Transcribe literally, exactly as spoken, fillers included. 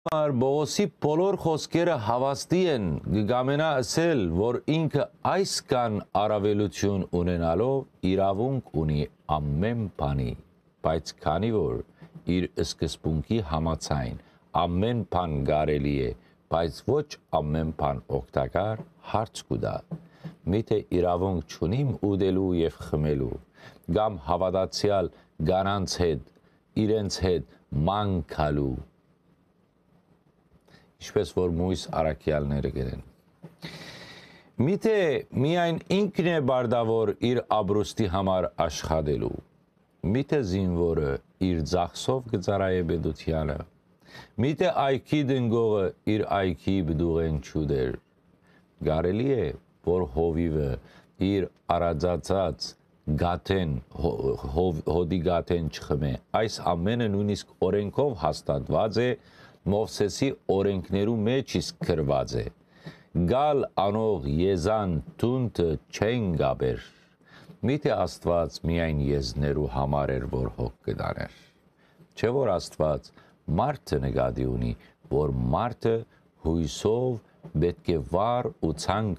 համար Պողոսի բոլոր խօսքերը հաւաստի են, կը կամենայ ըսել, որ ինքը այսքան առաւելութիւն ունենալով իրաւունք ունի ամէն բանի, բայց քանի որ իր սկզբունքի համաձայն ամէն բան կարելի է, բայց ոչ ամէն բան օգտակար, հարց կու տայ. միթէ իրաւունք չունի՞մ ուտելու եւ խմելու, կամ հաւատացեալ կանանց հետ, իրենց հետ ման գալու, ինչպէս որ մոյս առաքեալները կ'ընեն։ Միթէ միայն ինքն է պարտաւոր իր ապրուստի համար աշխատելու։ Միթէ զինուորը իր ծախսով կը ծառայէ պետութեանը։ Միթէ այգի տնկողը իր այգի պտուղէն չուտեր։ Կարելի է, որ հովիւը իր արածացած գաթէն, հո-, հով-, հոտի գաթէն չխմէ։ Այս ամէնը նոյնիսկ օրէնքով հաստատուած է, Մովսէսի օրէնքներու մէջ իսկ գրուած է. «Գալ անող եզան թունթը չեն կապեր»։ Միթէ Աստուած միայն եզներու համար էր, որ հոգ կը տանէր։ Չէ՞ որ Աստուած մարդը նկատի ունի, որ մարդը յոյսով պէտք է վառ ու ցանկ